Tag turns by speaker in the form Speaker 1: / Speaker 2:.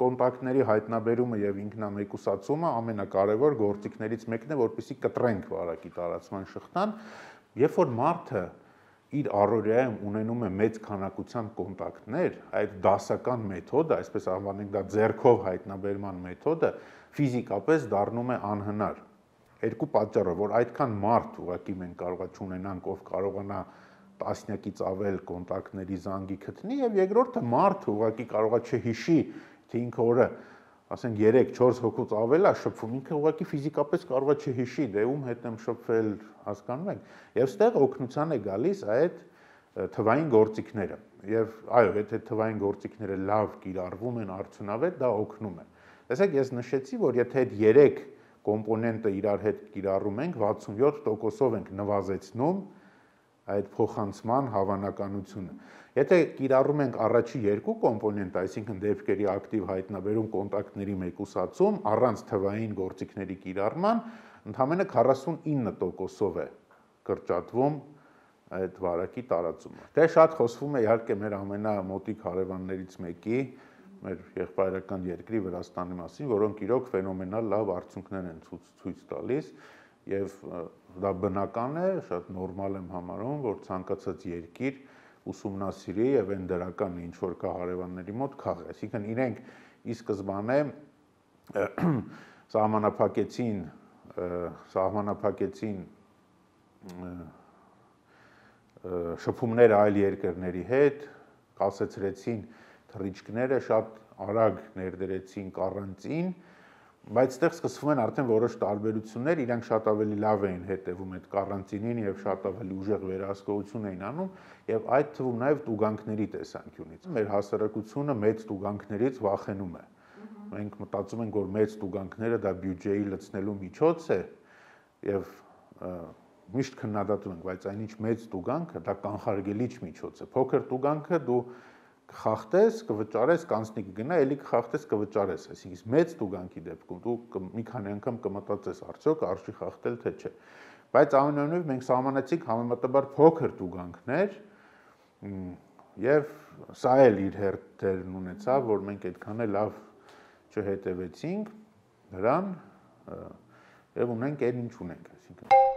Speaker 1: Կոնտակտների հայտնաբերումը եւ ինքնամեկուսացումը ամենակարևոր գործիքներից մեկն է, որպեսզի կտրենք վարակի տարածման շղթան, երբ որ մարդը իր առօրյայում ունենում է մեծ քանակությամբ կոնտակտներ, այդ դասական մեթոդը, այսպես անվանենք դա ձեռքով հայտնաբերման մեթոդը, ֆիզիկապես դառնում է անհնար։ Երկու պատճառով, որ այդքան մարդ ուղղակի մենք կարողա չունենանք, ով կարողանա տասնյակից ավել կոնտակտների զանգի գտնի, եւ երկրորդը մարդը ուղղակի կարողա չհիշի, թե ինքը օրը, ասենք 3-4 հոգուց ավել է շփվում, ինքը ուղղակի ֆիզիկապես կարողա չհիշի, դե ում հետ եմ շփվել, հասկանում եք, եւ ստեղ օգնության է գալիս այդ թվային գործիքները, եւ այո, եթե թվային գործիքները լավ կիրառվում են արդյունավետ, դա օգնում է։ Տեսեք, ես նշեցի, որ եթե այդ 3 կոմպոնենտը իրար հետ կիրառում ենք, 67%-ով ենք նվազեցնում այդ փոխանցման հավանականությունը։ Եթե կիրառում ենք առաջի 2 կոմպոնենտը, այսինքն դեպքերի ակտիվ հայտնաբերում, կոնտակտների մեկուսացում, առանց թվային գործիքների կիրառման, ընդամենը 49%-ով է կրճատվում այդ վարակի տարածումը։ Դե շատ խոսվում է իհարկե մեր ամենամոտիկ հարևաններից մեկի, մեր եղբայրական երկրի Վրաստանի մասին, որոնք իրոք ֆենոմենալ լավ արդյունքներ են ցույց տալիս, եւ դա բնական է, շատ նորմալ եմ համարում, որ ցանկացած երկիր ուսումնասիրի եւ այն դրական ինչ որ կա հարևանների մոտ քաղի, այսինքն իրենք ի սկզբանե սահմանափակեցին շփումները այլ երկրների հետ, կասեցրեցին թռիչքները, շատ արագ ներդրեցին կարանտին, բայց այդտեղ սկսվում են արդեն որոշ տարբերություններ, իրանք շատ ավելի լավ էին հետևում այդ կարանտինին եւ շատ ավելի ուժեղ վերահսկողություն էին անում եւ այդ թվում նաեւ տուգանքների տեսանկյունից։ Մեր հասարակությունը մեծ տուգանքներից վախենում է։ Մենք մտածում ենք, որ մեծ տուգանքները դա բյուջեի լցնելու միջոց է եւ միշտ քննադատում ենք, բայց այնինչ մեծ տուգանքը դա կանխարգելիչ միջոց է։ Փոքր տուգանքը դու կխախտես, կվճարես, կանցնի կգնա, էլի կխախտես, կվճարես, այսինքն մեծ տուգանքի դեպքում դու մի քանի անգամ կմտածես, արդյոք արժի խախտել թե չէ։ Բայց այնուամենայնիվ մենք սահմանեցինք համեմատաբար փոքր տուգանքներ, եւ սա էլ իր հերթերն ունեցավ, որ մենք այդքան էլ լավ չհետևեցինք դրան եւ ունենք այն ինչ ունենք, այսինքն